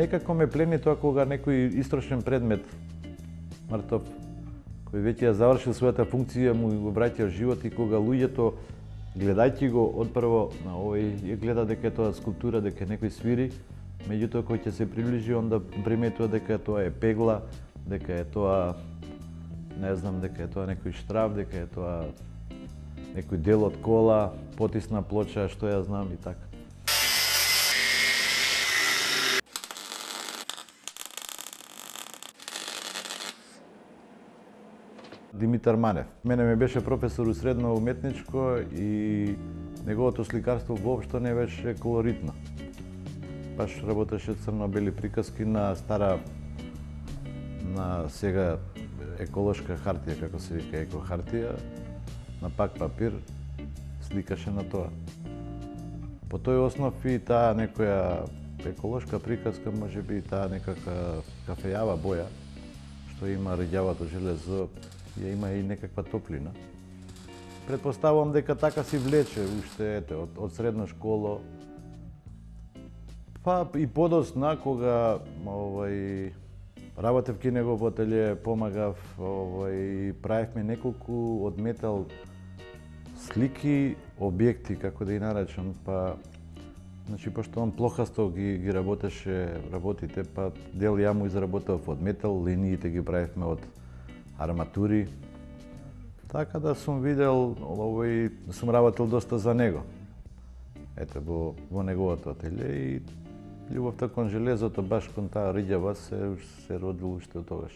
некако ме плени тоа кога некој истрошен предмет, мртов, кој веќе ја завршил својата функција, му го враќа живот и кога луѓето, гледајќи го, одпрво на овој, гледа дека е тоа скулптура, дека некој свири, меѓутоа кој ќе се приближи, онда приметува дека тоа е пегла, дека е тоа, не знам, дека е тоа некој штраф, дека е тоа некој дел од кола, потисна плоча, што ја знам и така. Димитар Манев. Мене ме беше професор у средно уметничко и неговото сликарство воопшто не беше колоритно. Баш работеше црно-бели приказки на стара, на сега еколошка хартија, како се вика екохартија, на пак папир, сликаше на тоа. По тој основ и таа некоја еколошка приказка, може би и таа некака кафејава боја, што има рѓавато железо, ја има и некаква топлина. Предпоставувам дека така си влече уште од средна школа. Па и подосна кога работев ки него во ателје, помагав, правевме неколку од метал слики, објекти, како да ги наречам, па значи пошто он плохасто ги работеше работите, па дел ја му изработав од метал, линиите ги правевме од арматури. Така да сум видел, сум работел доста за него. Ете, во неговото ателје и љубовта кон железото, баш кон таа рѓава, се родил уште од тогаш.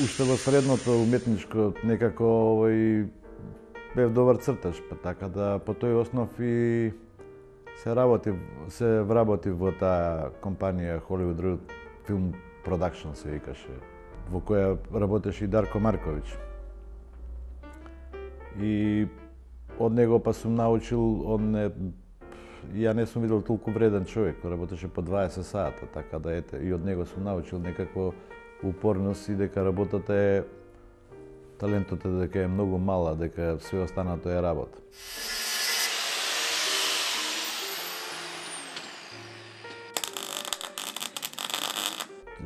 Уште во средното уметничко некако бев добар цртач, па така да по тој основ и се вработив во таа компанија Hollywood Real Film Production се викаше, во која работеше и Дарко Марковиќ. И од него па сум научил, ја не сум видел толку вреден човек, работеше по 20 сата, така да ете, и од него сум научил некакво упорност и дека работата е, талентот е дека е многу мала, дека све останато е работа.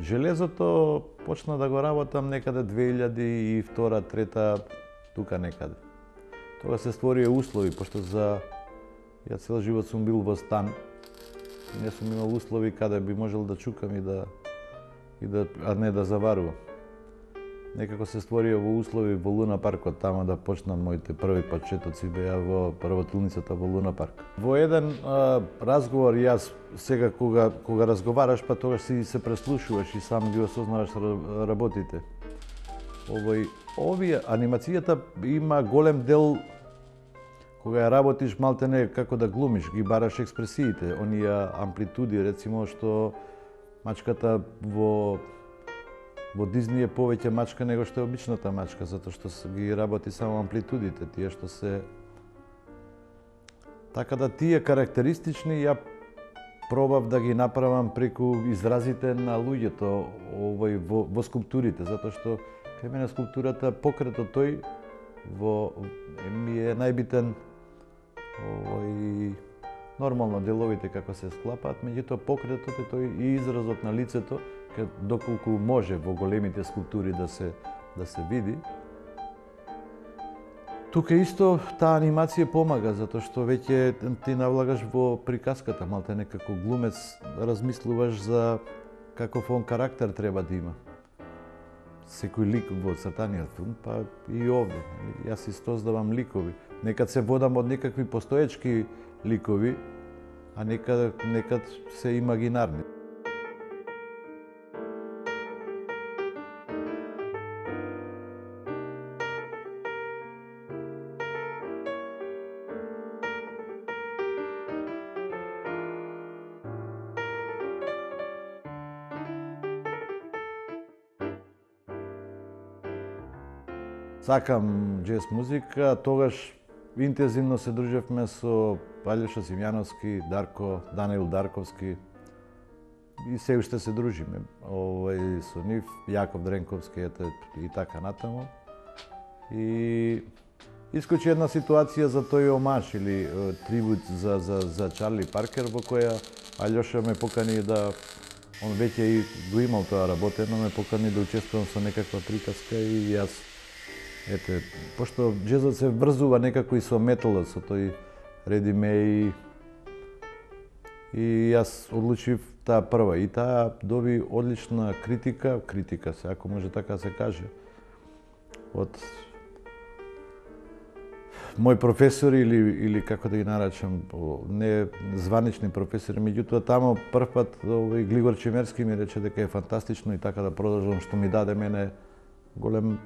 Железото почна да го работам некаде 2002-2003, тука некаде. Тога се створија услови, пошто ја цел живот сум бил во стан. Не сум имал услови каде би можел да чукам а не да заварувам. Некако се створија во услови во Луна паркот, тама да почнам моите први почетоци беа во работилницата во Луна парк. Во еден разговор јас сега кога разговараш, па тогаш си се преслушуваш и сам ги осознаваш работите. Анимацијата има голем дел кога ја работиш малтене како да глумиш, ги бараш експресиите, оние амплитуди, рецимо што мачката во Дизни е повеќе мачка него што е обичната мачка, затоа што ги работи само амплитудите, тие што се... Така да тие карактеристични ја пробав да ги направам преку изразите на луѓето во скулптурите, затоа што кај мене скулптурата, покретот тој ми е најбитен, нормално деловите како се склапаат, меѓутоа покретот е тој и изразот на лицето, доколку може во големите скулптури да се види. Тука исто таа анимација помага, затоа што веќе ти навлагаш во приказката, малтене како глумец размислуваш за каков он карактер треба да има. Секој лик во цртаниот филм, па и овде. Јас создавам ликови. Некад се водам од некакви постоечки ликови, а некад се имагинарни. Сакам џез музика, тогаш интензивно се дружевме со Алјоша Симјановски, Даниел Дарковски и се уште се дружиме. Со нив, Јаков Дренковски и така натаму. И искочи една ситуација за тој омаж или трибут за Чарли Паркер, во која Алјоша ме покани да, он веќе и го имал тоа работено, ме покани да учествувам со некаква приказка и јас, ете, пошто джезот се врзува некако и со металот, со тој редиме и јас одлучив таа прва и таа доби одлична критика се, ако може така се каже, од мој професори или како да ги наречам, не званични професори, меѓутоа тамо првпат Глигор Чимерски ми рече дека е фантастично и така да продолжам, што ми даде мене голем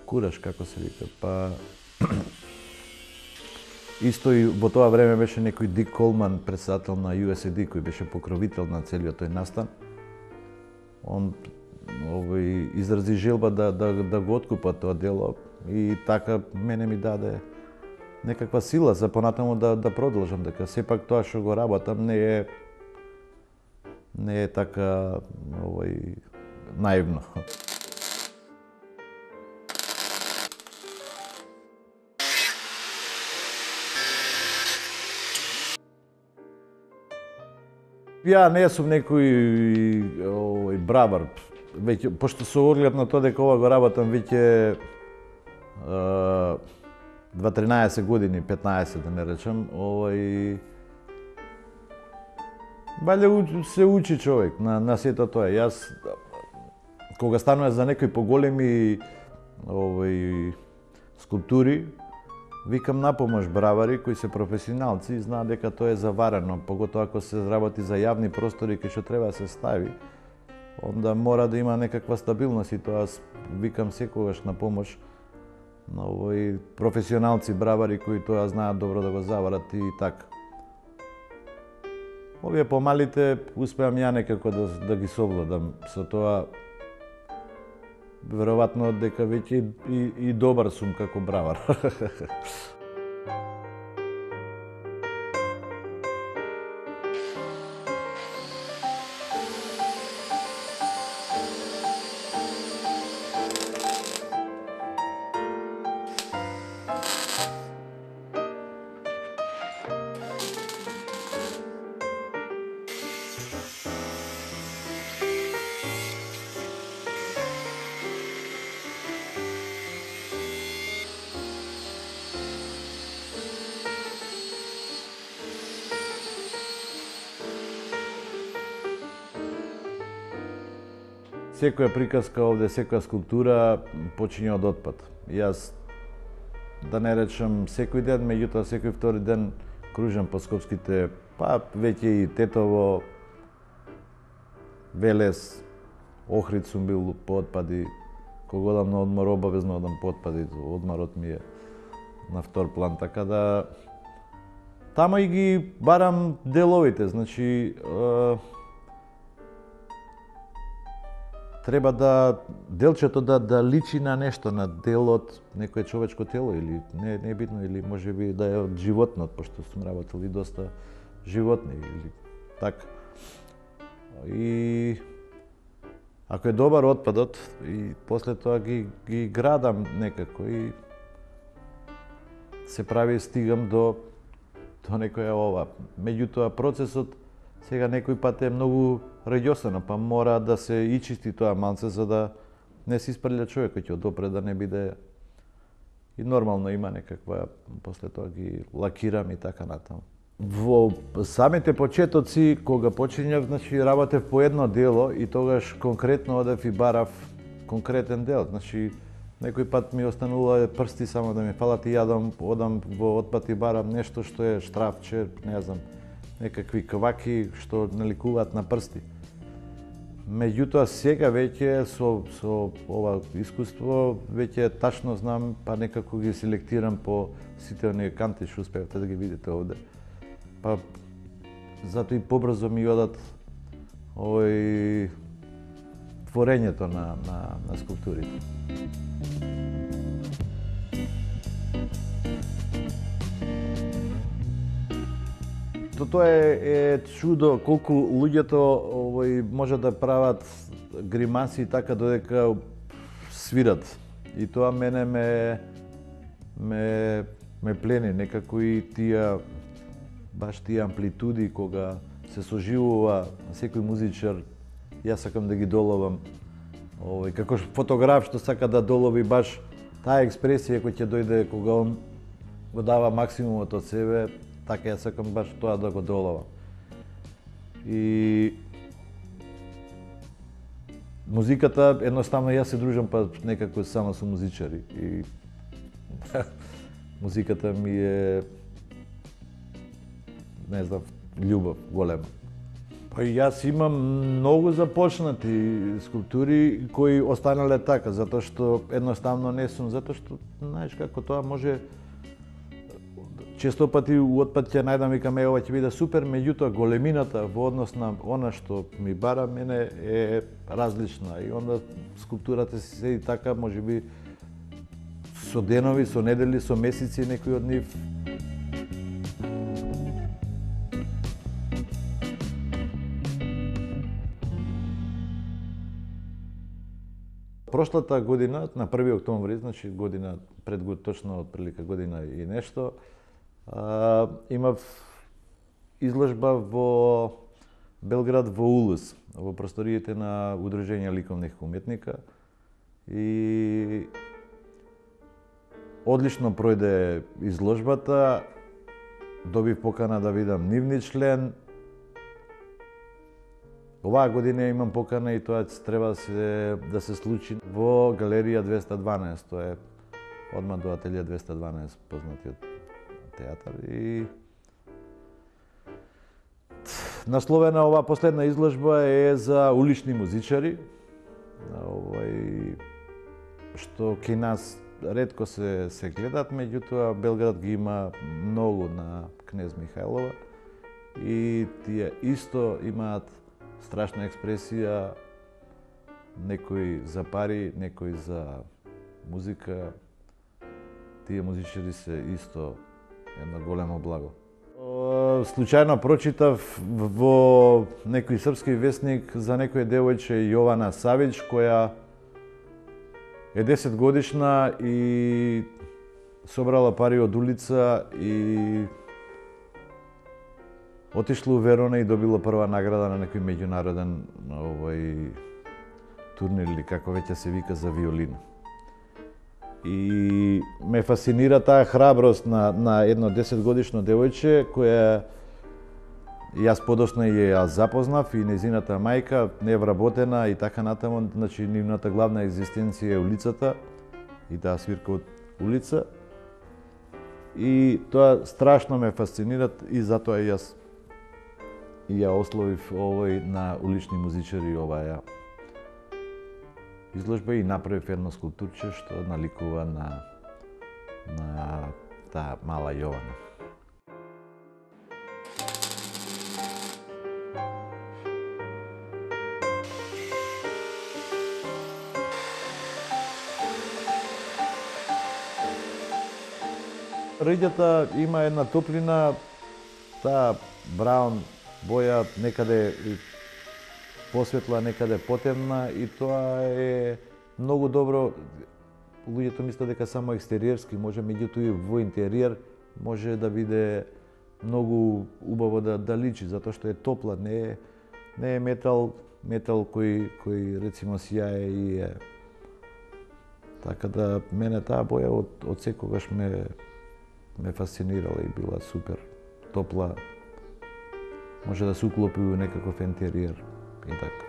кураж, како се вика. Па исто и во тоа време беше некој Дик Колман, председател на USAID, кој беше покровител на целиот тој настан. Он изрази желба да го откупа тоа дело и така мене ми даде некаква сила за понатаму да продолжам, дека сепак тоа што го работам не е така наивно. Ја не сум некој бравар, веќе пошто со оглед на тоа дека ова го работам веќе 13 години, 15 да не речам, валја се учи човек на сето тоа. Јас кога станува за некои поголеми скулптури, викам на помош бравари кои се професионалци и знаат дека тоа е заварено, поготоа ако се работи за јавни простори кај што треба да се стави, онда мора да има некаква стабилност и тоа викам секогаш на помош на професионалци бравари кои тоа знаат добро да го заварат и така. Овие помалите успеам ја некако да ги совладам со тоа. Веројатно дека веќе и добар сум како бравар. Секоја приказка овде, секоја скулптура почиња од отпад. Јас, да не речам секој ден, меѓутоа секој втори ден кружам по скопските, па веќе и Тетово, Велес, Охрид сум бил по отпади. Кога одам на одмор, обавезно одам по отпади, одморот ми е на втор план, така да тама и ги барам деловите, значи треба да делчето да личи на нешто, на дел од некое човечко тело или не е битно, или можеби да е од животнот, пошто сум работел и доста животни или така. И ако е добар отпадот и после тоа ги градам некако и се прави, стигам до некоја ова. Меѓутоа процесот сега некој пат е многу раѓосано, па мора да се ичисти тоа малце за да не се испрља човекот ќе одопре, да не биде и нормално има некаква, после тоа ги лакирам и така натаму. Во самите почетоци, кога почињав, значи работев по едно дело и тогаш конкретно одев и барав конкретен дел. Значи некој пат ми останува прсти само да ми фалат и одам во отпад и барам нешто што е штрафче, не знам, некакви кваки што наликуваат на прсти. Меѓутоа сега веќе со ова искуство веќе тачно знам, па некако ги селектирам по сите оние канти што успеавте да ги видите овде. Па затоа и побрзо ми одат творењето на скулптурите. Тоа е чудо колку луѓето може да прават гримаси така додека свират. И тоа мене ме ме плени некако и баш тие амплитуди кога се соживува секој музичар, јас сакам да ги доловам. Како фотограф што сака да долови баш таа експресија која ќе дојде кога он го дава максимумот од себе, така јас сакам баш тоа да го доловам. И музиката, едноставно јас се дружам па некако само со музичари и музиката ми е, не знам, љубов голема. Па јас имам многу започнати скулптури кои останале така, затоа што едноставно не сум, затоа што, знаеш како тоа може, често пати отпад ќе најдам, викам, ова ќе биде супер, меѓутоа големината во однос на она што ми бара мене е различна и онда скулптурата си седи така, можеби со денови, со недели, со месеци некои од нив. Прошлата година, на 1 октомври, значи година пред точно отприлика година и нешто, имав изложба во Белград во УЛС, во просториите на Удружение ликовних уметника и одлично пројде изложбата, добив покана да видам нивни член. Оваа година имам покана и тоа треба да се случи во Галерија 212, тоа е одма до Ателје 212, познатиот театар. И насловена оваа последна изложба е за улични музичари, што кај нас ретко се гледат, меѓутоа Белград ги има многу на Кнез Михајлова и тие исто имаат страшна експресија, некои за пари, некои за музика. Тие музичари се исто едно големо благо. Случајно прочитав во некој српски весник за некој девојче Јована Савич, која е 10 годишна и собрала пари од улица и отишла у Верона и добила прва награда на некој меѓународен турнир или како веќе се вика за виолина. И ме фасцинира таа храброст на едно 10 годишно девојче која јас подоцна ја запознав и незината мајка не вработена и така натаму, значи нивната главна екзистенција е улицата и таа свирка од улица. И тоа страшно ме фасцинира и затоа јас ја ословив на улични музичари оваа изложба и направив едно скулптурче што наликува на таа мала Јована. Ридјата има една топлина, таа браун боја некаде посветла, некаде потемна и тоа е многу добро. Луѓето мислат дека само екстериерски може, меѓутоа и во интериер може да биде многу убаво да личи, затоа што е топла, не е метал кој рецимо сјае и е. Така да мене таа боја од секогаш ме фасцинирала и била супер топла. Може да се уклопи во некаков интериер и така.